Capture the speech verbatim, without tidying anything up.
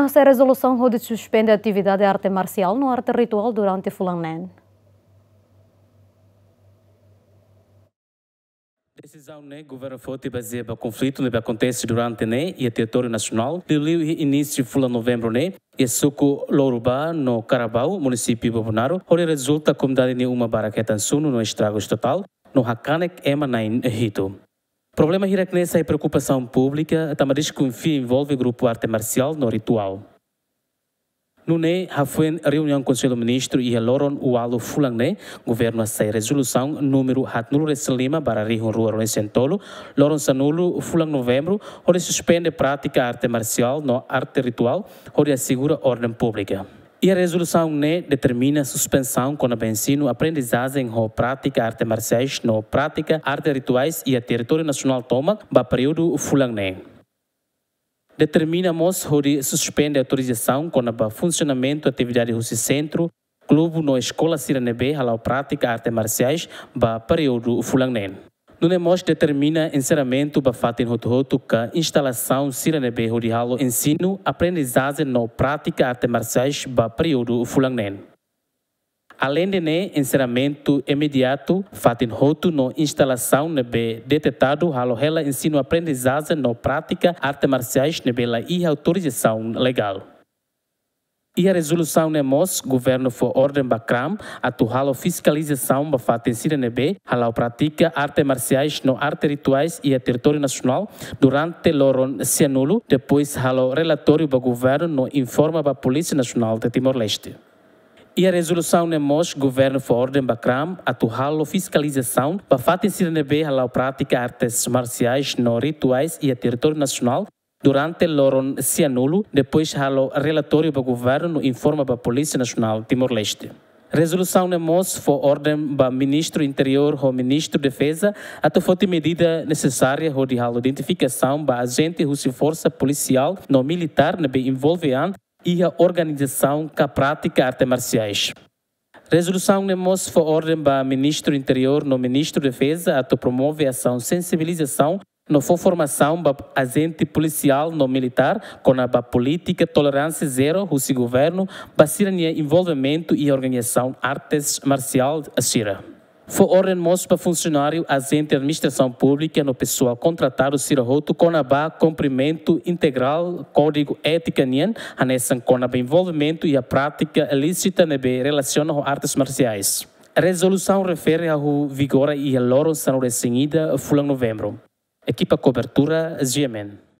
Sai rezolusaun hodi suspende atividade arte marsiál no arte rituál durante fulan neen. Desizaun ne'e governu foti bazeia ba konflitu ne'ebé akontese durante ne'e iha territóriu nasionál, liuliu iha inísiu fulan novembru ne'e, iha suku Louruba no Karabau, munisípiu Bobonaro, hodi rezulta komunidade nia uma barak hetan sunu no estragus totál, no hakanek ema na'in hitu. Problema hirak-ne'e sai preokupasaun públika, tanba deskonfia envolve grupu arte marsiál no rituál. Nune'e, hafoin reuniaun Konsellu Ministru iha loron ualu fulan ne'e, governu hasai rezolusaun númeru haatnulu resin lima barra rihun rua ruanulu resin tolu, loron sanulu fulan novembru, hodi suspende prátika arte marsiál no arte rituál, hodi asegura orden públika. Iha rezolusaun ne'e determina suspensaun kona-ba ensinu aprendizajen ho prátika arte marsiais no prátika arte rituais iha territóriu nasionál tomak ba períodu fulan neen. Determina mós hodi suspende autorizasaun kona-ba funsionamentu atividade husi sentru, klubu no eskola sira ne'ebé hala'o prátika arte marsiais ba períodu fulan neen. Nune'e mós determina enserramentu ba fatin hotu-hotu ka instalasaun sira ne'ebé hodi halo ensinu, aprendizajen no prátika arte marsiais ba períodu fulan neen. Aleinde ne'e, enserramentu imediatu fatin hotu no instalasaun ne'ebé detetadu halo hela ensinu aprendizajen no prátika arte marsiais ne'ebé la iha autorizasaun legál. Iha rezolusaun ne'e mós, governu fó orden ba kram atu halo fiskalizasaun ba fatin sira ne'ebé hala'o prátika arte marsiais no arte rituais iha territóriu nasionál durante loron sianulu, depois halo relatóriu ba governu no informa ba Polísia Nasionál de Timor-Leste. Iha rezolusaun ne'e mós, governu fó orden ba kram atu halo fiskalizasaun ba fatin sira ne'ebé hala'o prátika artes marsiais no rituais iha territóriu nasionál durante loron sianulu, depois halo relatóriu ba governu no informa ba Polísia Nasionál Timor-Leste. Rezolusaun ne'e mós fó orden ba Ministru Interiór ho Ministru Defeza atu foti medida nesesária hodi halo identifikasaun ba ajente husi forsa polisiál no militár ne'ebé envolve an iha organizasaun ka prátika arte marsiais. Rezolusaun ne'e mós fó orden ba Ministru Interiór no Ministru Defeza atu promove asaun sensibilizasaun no fó formasaun ba ajente polisiál no militár kona-ba polítika toleránsia zero husi governu ba sira-nia envolvimentu iha organizasaun artes marsiál sira. Fó orden mós ba funsionáriu, ajente administrasaun públika no pesoál kontratadu sira hotu kona-ba kumprimentu integrál kódigu étika nian, hanesan kona-ba envolvimentu iha prátika ilísita ne'ebé relasiona ho artes marsiais. Rezolusaun refere hahú vigora iha loron sanulu resin ida fulan novembru. Ekipa kobertura, G M N.